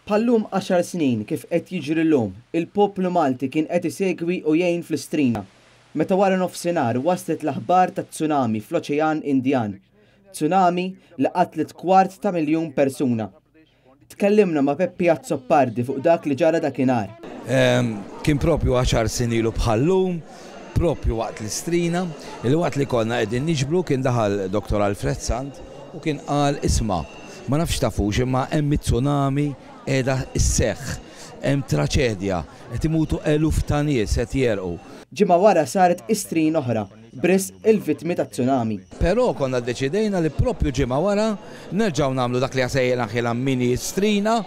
Bħal-lum għaxar snin kif qed jiġri llum, il-poplu Malti kien qed isegwi u jgħin fl-Istrina, meta wara nofsinhar waslet l-aħbar ta' tsunami fl-Oċean Indjan. Tsunami li qatlet kwart ta' miljun persuna. Tkellimna ma' Peppi Azzopardi fuq dak li ġara dakinhar. Kien propju 10 snin ilu bħal-lum, propju waqt l-Istrina, il-waqt li konna qegħdin niġbru kien daħal Dr. Alfred Sant u kien qal: "Isma', ma nafx tafux imma hemm tsunami qiegħda sseħħ, hemm traċedja, qed imutu eluf ta' nies qed jegħrqu." Ġimgħa wara saret Istrina oħra, b'risq il-vittmi ta' tsunami. Però konna deċidejna li propju ġimgħa wara nerġgħu nagħmlu dak li sejjaħna mini Strina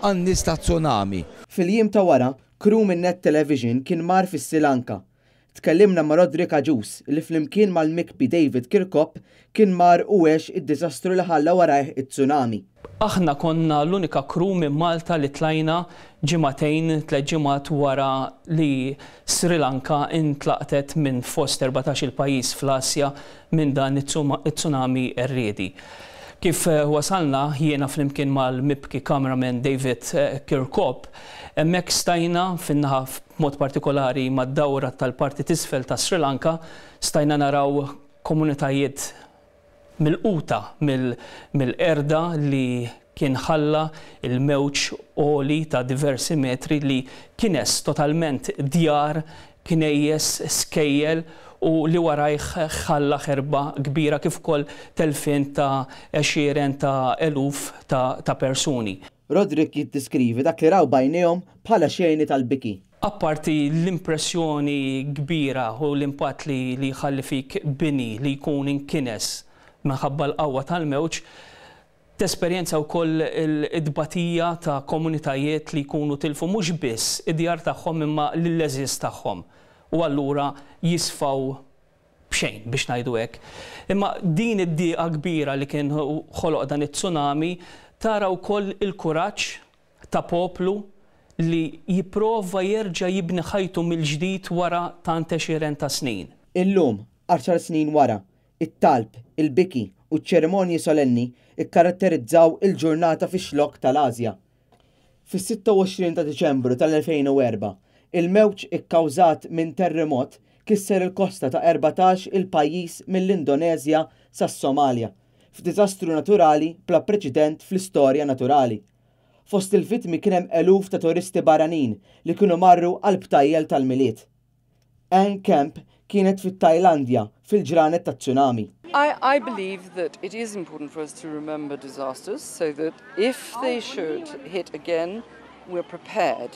għan-nies ta' tsunami. Fil-jiem ta' wara, crew minn Net Television kien mar fis-Sri Lanka. Tkellimna ma' Roderick Agius li flimkien mal-Mikpi David Kirkop kien mar u għex id-diżastru li ħalla warajh it-tsunami. Aħna konna l-unika crew minn Malta li tlajna ġimagħtejn, 3 ġimgħat wara li Sri Lanka intlaqtet minn fost 14 il-pajjiż fl-Asja minn dan it-tsunami qerriedi. Kif wasalna jiena flimkien mal-mibki cameraman David Kirkop, hemmhekk stajna fin-naħa mod partikolari mad-dawra tal-parti t'isfel ta' Sri Lanka, stajna naraw komunitajiet milquta mill-qerda li kien ħalla il-mewġ għoli ta' diversi metri li kines totalment djar, knejjes, skejjel u li warajh ħalla ħerba kbira kif ukoll telfien ta' għexieren ta' eluf ta' persuni. Roderick jiddiskrivi dak li raw b'għajnejhom bħala xeni tal-biki. Apparti l-impressjoni kbira u l-impatt li ħalli fik bini li jkun inkines minħabba l-qawwa tal-mewġ, tesperjenza wkoll id-batija ta' komunitajiet li jkunu tilfu mhux biss id-djar tagħhom imma l-għeżież tagħhom. U allura jisfaw b'xejn biex ngħidu hekk. Imma din id-diqa kbira li kien ħoloq dan it-tsunami tara wkoll il-kuraġġ ta' poplu li jipprova jerġa' jibni ħajtu mill-ġdid wara tant għexieren ta' snin. Illum, 10 snin wara, it-talb, il-biki u ċ-ċerimonji solenni ikkaratterizzaw il-ġurnata fix-Xlokk tal-Asja. Fis-26 ta' Diċembru tal-2004, il-mewġ ikkawżat minn terremot kisser il-kosta ta' 14 il-pajjiż mill-Indonezja sas-Somalja, f'diżastru naturali bla preċedent fl-istorja naturali. Fost il-vittmi kien hemm eluf ta' turisti barranin li kienu marru għal btajjel tal-Milied. Anne Kemp kienet fit-Tajlandja fil-ġranet ta' tsunami. I believe that it is important for us to remember disasters so that if they should hit again, we're prepared.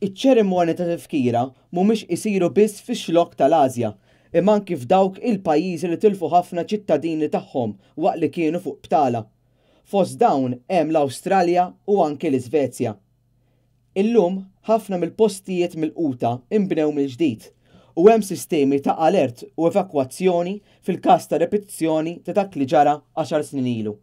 Iċ-ċerimonji ta' tifkira mhumiex isiru biss fix-Xlokk tal-Asja, imma anki f'dawk il-pajjiżi li tilfu ħafna ċittadini tagħhom waqt li kienu fuq btala. Fost dawn hemm l-Awstralja u anki l-Iżvezja. Illum ħafna mill-postijiet milquta imbnew mill-ġdid u hemm sistemi ta' alert u evakwazzjoni fil-każ ta' repetizzjoni ta' dak li ġara 10 snin ilu.